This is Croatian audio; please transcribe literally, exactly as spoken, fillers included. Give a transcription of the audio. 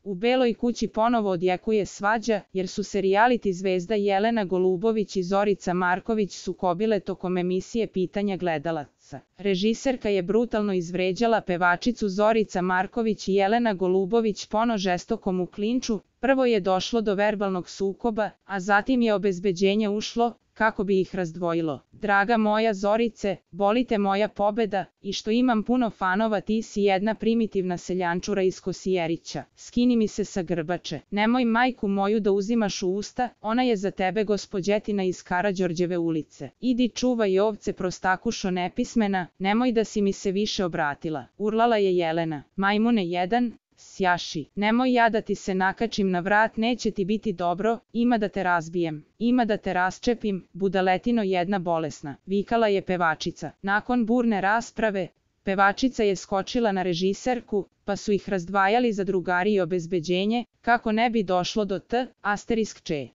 U Beloj kući ponovo odjekuje svađa, jer su se reality zvezda Jelena Golubović i Zorica Marković sukobile tokom emisije Pitanja gledalaca. Režiserka je brutalno izvređala pevačicu Zorica Marković i Jelena Golubović pono žestokom u klinču. Prvo je došlo do verbalnog sukoba, a zatim je obezbeđenje ušlo, kako bi ih razdvojilo. Draga moja Zorice, boli te moja pobeda, i što imam puno fanova, ti si jedna primitivna seljančura iz Kosjerića. Skini mi se sa grbače. Nemoj majku moju da uzimaš u usta, ona je za tebe gospođetina iz Karađorđeve ulice. Idi čuvaj ovce prostakušo nepismena, nemoj da si mi se više obratila. Urlala je Jelena. Majmune jedan, sjaši. Nemoj ja da ti se nakačim na vrat, neće ti biti dobro, ima da te razbijem, ima da te rasčepim, budaletino jedna bolesna, vikala je pevačica. Nakon burne rasprave, pevačica je skočila na režiserku, pa su ih razdvajali za drugari i obezbeđenje, kako ne bi došlo do t, asterisk če.